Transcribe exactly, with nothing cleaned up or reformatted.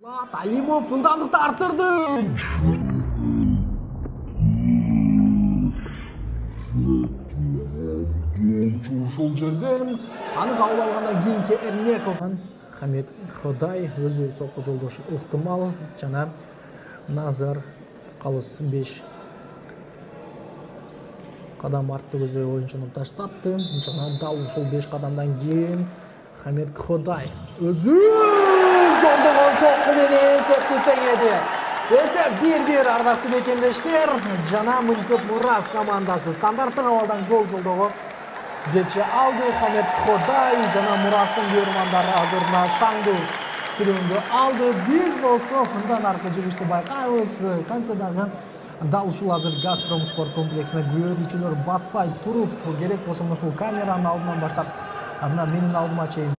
Алимов ылдамдыкты арттырды. Ушул жерден аны кабыл алгандан кийинки Эрмеков Хамит Ходай өзү сокко жолдошу ыктымал жана Назар калыс беш кадам артты көзөй оюнчуну таштатты. Жана дал ушул беш кадамдан кийин Хамит Ходай өзү жолдогон сокку менен эсепти теңеди. Эсеп бир-бир ардактуу мекендештер. Жана Мынтип Мурас командасы стандарттык абалдан гол жолдого жете алды. Хамит Ходай жана Мурастын көрмандары азырына шаңдуу сүрөндү алды. Биз болсо мындан аркы жүрүштү байкайбыз. Кантсе дагы дал ушул азыр Газпром спорт комплексине күбөлөрчүлөр батпай туруп керек болсо ушул камеранын алдынан баштап андан менин алдыма чейин